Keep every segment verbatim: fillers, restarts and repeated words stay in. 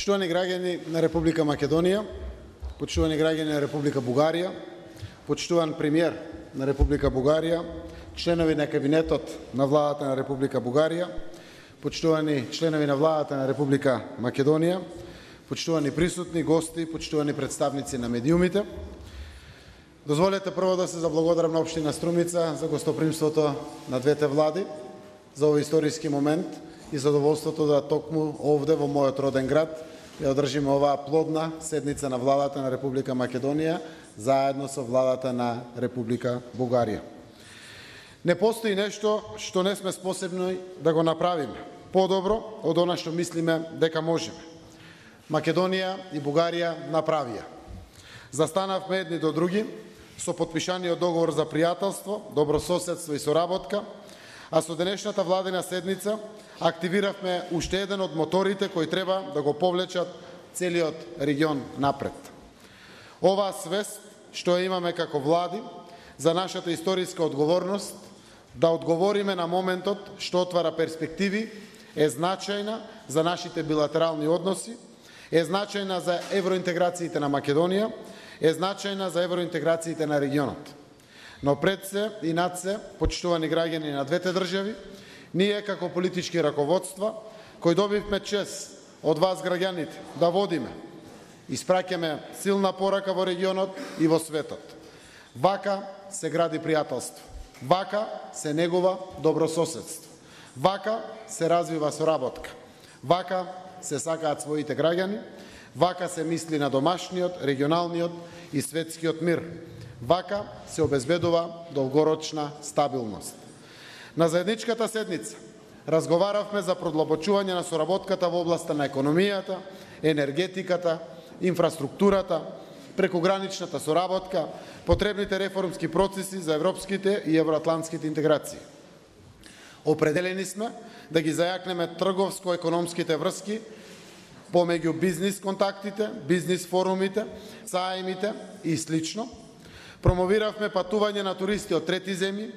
Почитувани граѓани на Република Македонија, почитувани граѓани на Република Бугарија, почитуван премиер на Република Бугарија, членови на кабинетот на владата на Република Бугарија, почитувани членови на владата на Република Македонија, почитувани присутни гости, почитувани представници на медиумите. Дозволете прво да се заблагодарам на општина Струмица за гостопримството на двете влади за овој историски момент и задоволството да токму овде во мојот роден град ја одржиме оваа плодна седница на владата на Република Македонија заедно со владата на Република Бугарија. Не постои нешто што не сме способни да го направиме подобро од она што мислиме дека можеме. Македонија и Бугарија направија. Застанавме едни до други со потпишаниот договор за пријателство, добрососедство и соработка, а со денешната владина седница активиравме уште еден од моторите кои треба да го повлечат целиот регион напред. Оваа свест што ја имаме како влади за нашата историска одговорност да одговориме на моментот што отвара перспективи е значајна за нашите билатерални односи, е значајна за евроинтеграциите на Македонија, е значајна за евроинтеграциите на регионот. Но пред се и над се, почитувани граѓани на двете држави, ние како политички раководства, кои добивме чест од вас граѓаните да водиме, испраќаме силна порака во регионот и во светот. Вака се гради пријателство. Вака се негува добрососедство. Вака се развива соработка. Вака се сакаат своите граѓани. Вака се мисли на домашниот, регионалниот и светскиот мир. Вака се обезбедува долгорочна стабилност. На заедничката седница разговаравме за продлабочување на соработката во областа на економијата, енергетиката, инфраструктурата, прекограничната соработка, потребните реформски процеси за европските и евроатлантските интеграции. Определени сме да ги зајакнеме трговско-економските врски помеѓу бизнис контактите, бизнис форумите, сајмите и слично. Промовиравме патување на туристи од трети земји,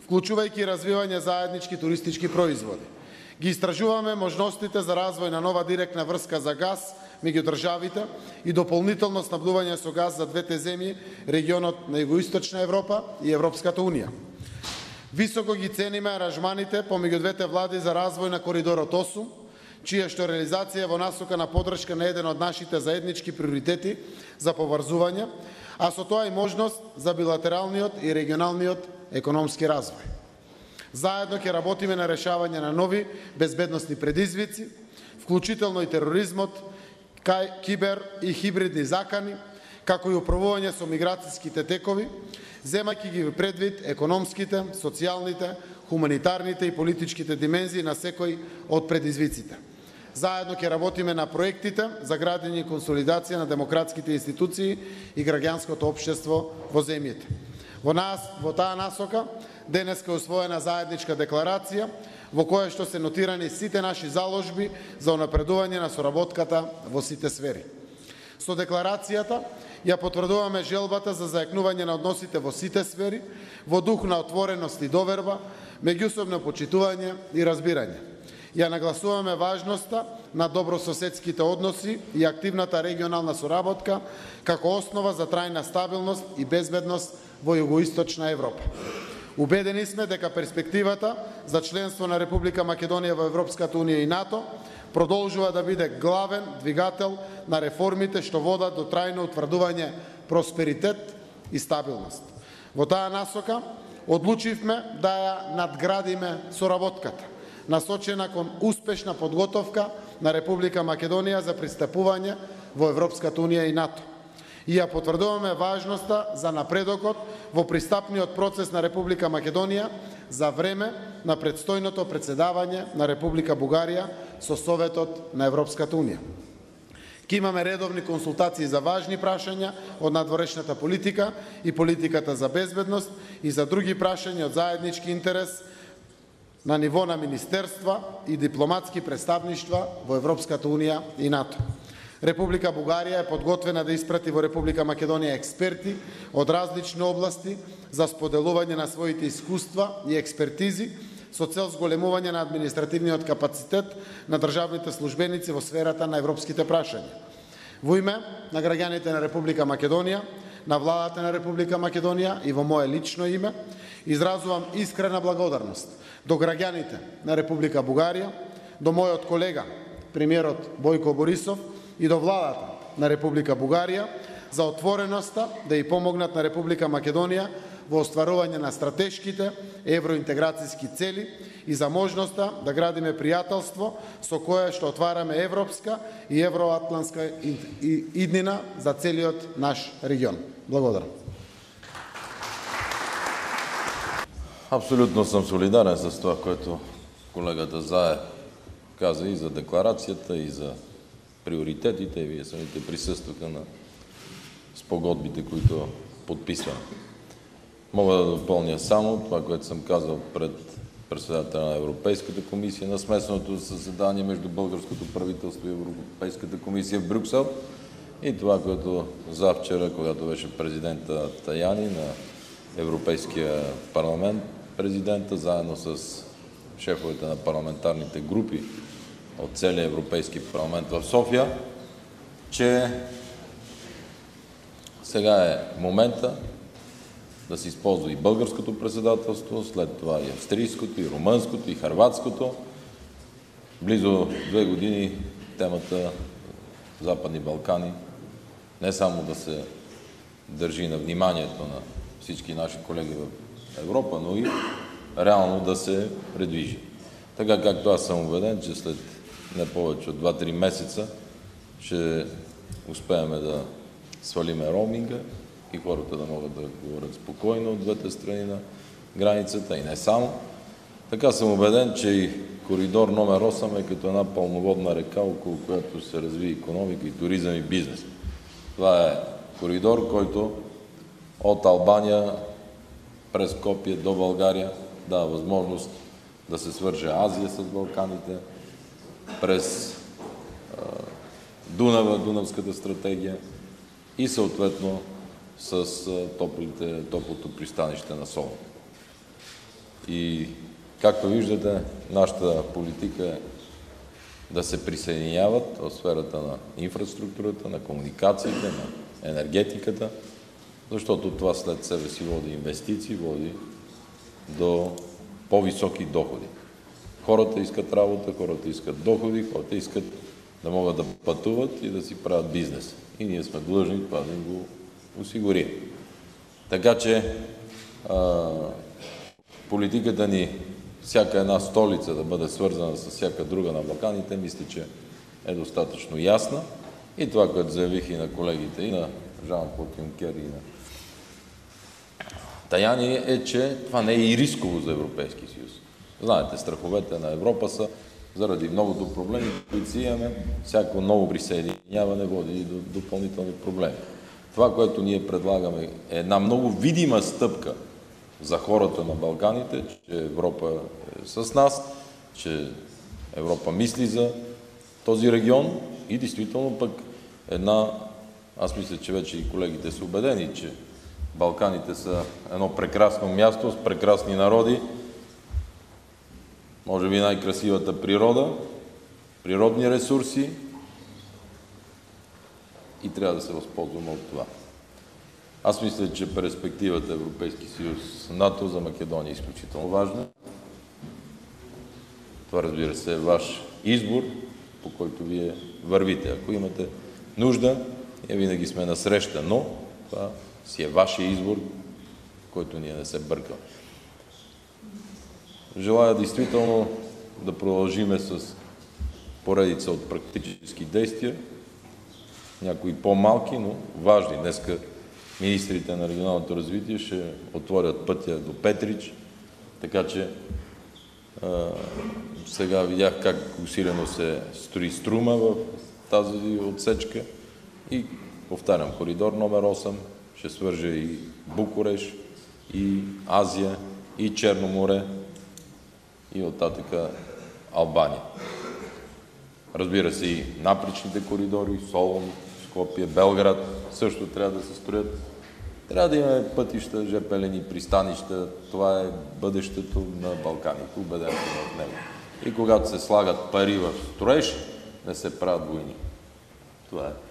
вклучувајќи развивање заеднички туристички производи. Ги истражуваме можностите за развој на нова директна врска за газ меѓу државите и дополнително снабдување со газ за двете земји, регионот на Југоисточна Европа и Европската Унија. Високо ги цениме аранжманите помеѓу двете влади за развој на коридорот осум, чија што реализација во насока на поддршка на еден од нашите заеднички приоритети за поврзување, а со тоа и можност за билатералниот и регионалниот економски развој. Заедно ќе работиме на решавање на нови безбедносни предизвици, вклучително и тероризмот, кај кибер и хибридни закани, како и управување со миграцијските текови, земајќи ги предвид економските, социјалните, хуманитарните и политичките димензии на секој од предизвиците. Заедно ќе работиме на проектите за градење и консолидација на демократските институции и граѓанското општество во земјите. Во нас, во таа насока, денеска е усвоена заедничка декларација во која што се нотирани сите наши заложби за унапредување на соработката во сите сфери. Со декларацијата ја потврдуваме желбата за зајакнување на односите во сите сфери, во дух на отвореност и доверба, меѓусобно почитување и разбирање. Ја нагласуваме важноста на добрососедските односи и активната регионална соработка како основа за трајна стабилност и безбедност во Југоисточна Европа. Убедени сме дека перспективата за членство на Република Македонија во Европската Унија и НАТО продолжува да биде главен двигател на реформите што водат до трајно утврдување просперитет и стабилност. Во таа насока одлучивме да ја надградиме соработката, насочена кон успешна подготовка на Република Македонија за пристапување во Европската Унија и НАТО. И ја потврдуваме важноста за напредокот во пристапниот процес на Република Македонија за време на предстојното претседавање на Република Бугарија со Советот на Европската Унија. Ке имаме редовни консултации за важни прашања од надворешната политика и политиката за безбедност и за други прашања од заеднички интерес на ниво на министерства и дипломатски представништва во Европската Унија и НАТО. Република Бугарија е подготвена да испрати во Република Македонија експерти од различни области за споделување на своите искуства и експертизи со цел зголемување на административниот капацитет на државните службеници во сферата на европските прашања. Во име на граѓаните на Република Македонија, на владата на Република Македонија и во мое лично име, изразувам искрена благодарност до граѓаните на Република Бугарија, до мојот колега, премиерот Бојко Борисов, и до владата на Република Бугарија за отвореноста да и помогнат на Република Македонија во остварување на стратешките евроинтеграцијски цели и за можноста да градиме пријателство со кое што отвараме европска и евроатлантска иднина за целиот наш регион. Благодарам. Абсолютно съм солидарен с това, което колегата Заев каза и за декларацията, и за приоритетите. Вие самите присъстваха на спогодбите, които подписваме. Мога да допълня само това, което съм казал пред председателя на Европейската комисия на смесеното заседание между българското правителство и Европейската комисия в Брюксел, и това, което завчера, когато беше президента Таяни на Европейския парламент, президента, заедно с шефовете на парламентарните групи от целия Европейски парламент в София, че сега е момента да се използва и българското председателство, след това и австрийското, и румънското, и хърватското. Близо две години темата Западни Балкани не само да се държи на вниманието на всички наши колеги в Европа, но и реално да се предвижи. Така както аз съм убеден, че след не повече от два-три месеца ще успеем да свалиме роуминга и хората да могат да говорят спокойно от двете страни на границата и не само. Така съм убеден, че и коридор номер осем е като една пълноводна река, около която се разви икономика и туризъм и бизнес. Това е коридор, който от Албания през Скопие до България дава възможност да се свърже Азия с Балканите, през Дунава, Дунавската стратегия и съответно с топлите, топлото пристанище на Солун. И както виждате, нашата политика е да се присъединяват в сферата на инфраструктурата, на комуникациите, на енергетиката, защото това след себе си води инвестиции, води до по-високи доходи. Хората искат работа, хората искат доходи, хората искат да могат да пътуват и да си правят бизнес. И ние сме длъжни това да им го осигурим. Така че а, политиката ни, всяка една столица да бъде свързана с всяка друга на Балканите, мисля, че е достатъчно ясна. И това, което заявих и на колегите, и на Жан-Клод Юнкер, и на Таяни, е, че това не е и рисково за Европейския съюз. Знаете, страховете на Европа са заради многото проблеми, които си имаме, всяко ново присъединяване води до допълнителни проблеми. Това, което ние предлагаме, е една много видима стъпка за хората на Балканите, че Европа е с нас, че Европа мисли за този регион и действително пък една, аз мисля, че вече и колегите са убедени, че Балканите са едно прекрасно място с прекрасни народи, може би най-красивата природа, природни ресурси и трябва да се възползваме от това. Аз мисля, че перспективата Европейски съюз НАТО за Македония е изключително важна. Това, разбира се, е ваш избор, по който вие вървите. Ако имате нужда, ние винаги сме насреща, но това си е вашия избор, който ние не се бъркаме. Желая действително да продължиме с поредица от практически действия, някои по-малки, но важни. Днеска министрите на регионалното развитие ще отворят пътя до Петрич, така че а, сега видях как усилено се строи Струма в тази отсечка и повтарям, коридор номер осем ще свърже и Букурещ, и Азия, и Черно море, и оттатъка Албания. Разбира се, и напречните коридори, Солун, Скопие, Белград също трябва да се строят. Трябва да имаме пътища, жп линии, пристанища. Това е бъдещето на Балканите. Убеден съм в него. И когато се слагат пари в строеж, не се правят войни. Това е.